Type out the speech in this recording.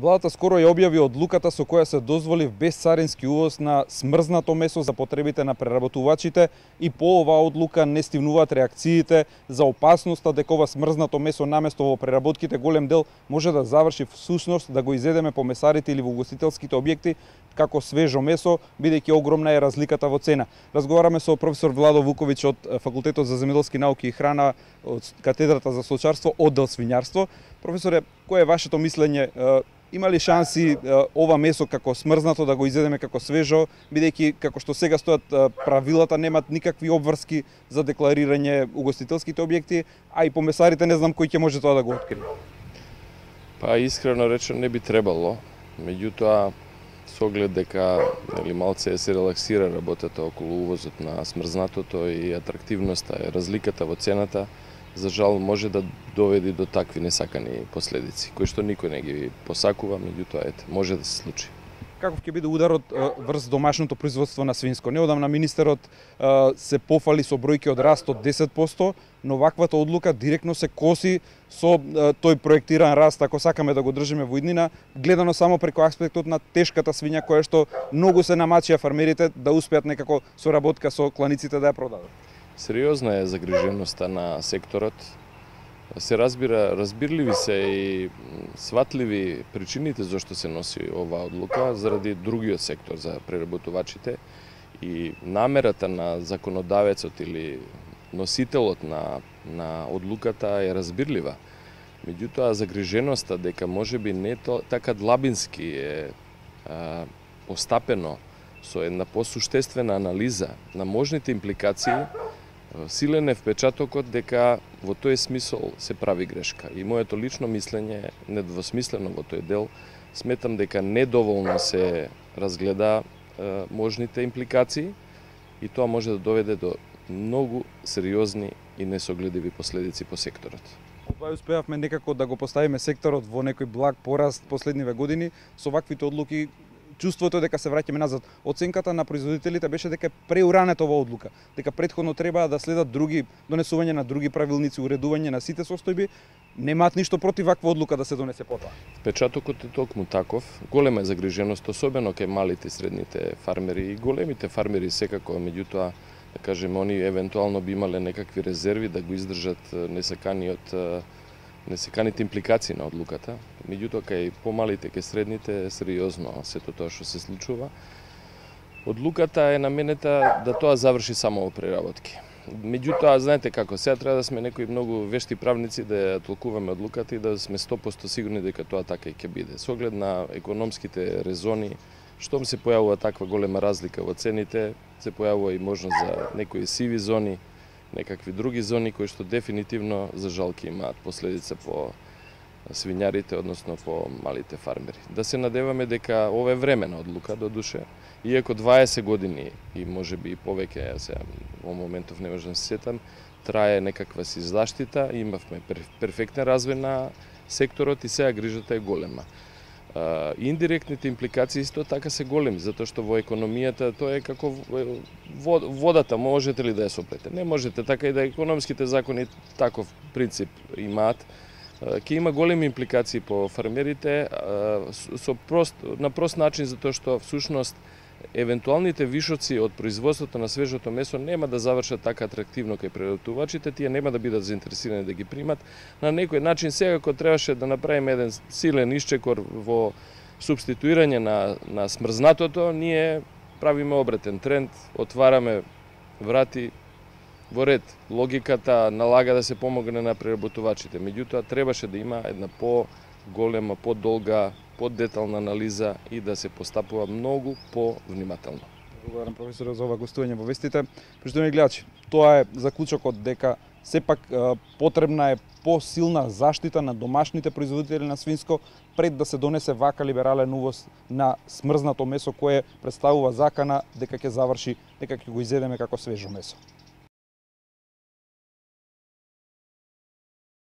Владата скоро ја објави одлуката со која се дозволи безцарински увоз на смрзнато месо за потребите на преработувачите и по оваа одлука не стигнуваат реакциите за опасноста дека ова смрзнато месо наместо во преработките голем дел може да заврши всушност да го изедеме по месарите или во угостителските објекти како свежо месо, бидејќи огромна е разликата во цена. Разговараме со професор Владо Вуковиќ од Факултетот за земјоделски науки и храна од катедрата за стоčarство, оддел свињарство. Професоре, кое е вашето мислење? Има ли шанси ова месо како смрзнато да го изедеме како свежо, бидејќи како што сега стојат правилата немаат никакви обврски за декларирање угостителските објекти, а и по месарите не знам кој ќе може тоа да го открие. Па искрено речено не би требало, меѓутоа со оглед дека малце се релаксира работата околу увозот на смрзнатото и атрактивноста и разликата во цената, за жал може да доведе до такви несакани последици, кои што никој не ги посакува, меѓутоа може да се случи. Каков ќе биде ударот врз домашното производство на свинско? Неодамна министерот се пофали со бројки од раст од 10%, но ваквата одлука директно се коси со тој проектиран раст, ако сакаме да го држиме во иднина, гледано само преку аспектот на тешката свиња која што многу се намачија фармерите да успеат некако соработка со кланиците да ја продадат. Сериозна е загриженоста на секторот. Се разбирливи се и сватливи причините зашто се носи оваа одлука заради другиот сектор за преработувачите и намерата на законодавецот или носителот на одлуката е разбирлива. Меѓутоа загриженоста дека можеби не така длабински е постапено со една посуштествена анализа на можните импликации, силен е впечатокот дека во тој смисол се прави грешка. И моето лично мислење е недвосмислено во тој дел. Сметам дека недоволно се разгледа можните импликации и тоа може да доведе до многу сериозни и несогледиви последици по секторот. Ова успеавме некако да го поставиме секторот во некој благ пораст последниве години со ваквите одлуки. Чувството дека се враќаме назад. Оценката на производителите беше дека е преуранета оваа одлука, дека претходно треба да следат други донесување на други правилници, уредување на сите состојби. Немаат ништо против ваква одлука да се донесе потоа. Впечатокот е токму таков. Голема е загриженост, особено кај малите и средните фармери и големите фармери секако, меѓутоа да кажеме они евентуално би имале некакви резерви да го издржат несаканите импликации на одлуката. Меѓутоа кај помалите, кај средните сериозно сето тоа што се случува. Одлуката е наменета да тоа заврши само во преработки. Меѓутоа, знаете како, сега треба да сме некои многу вешти правници да ја толкуваме одлуката и да сме 100% сигурни дека тоа така и ќе биде. Со оглед на економските резони, штом се појавува таква голема разлика во цените, се појавува и можност за некои сиви зони, некакви други зони кои што дефинитивно за жал ќе имаат последица по свињарите, односно по малите фармери. Да се надеваме дека ова е времена одлука до душе, иако 20 години и можеби и повеќе, сега во моментов не можам да се сетам, трае некаква си заштита, имавме перфектен развој на секторот и сега грижата е голема. Индиректните импликации исто така се големи, затоа што во економијата тоа е како водата, можете ли да ја соплете? Не можете, така и да економските закони таков принцип имаат. Ќе има големи импликации по фермерите на прост начин, затоа што всушност евентуалните вишоци од производството на свежото месо нема да завршат така атрактивно кај преработувачите, тие нема да бидат заинтересирани да ги примат. На некој начин сега кога требаше да направиме еден силен исчекор во субституирање на смрзнатото, ние правиме обратен тренд, отвараме врати во ред. Логиката налага да се помогне на преработувачите, меѓутоа требаше да има една по-голема, по-долга, поддетална анализа и да се постапува многу по-внимателно. Благодарам професорот за ова гостување во вестите. Почитувани гледачи, тоа е заклучокот дека сепак потребна е посилна заштита на домашните производители на свинско пред да се донесе вака либерален увоз на смрзнато месо кое представува закана дека ќе заврши, дека ќе го изедеме како свежо месо.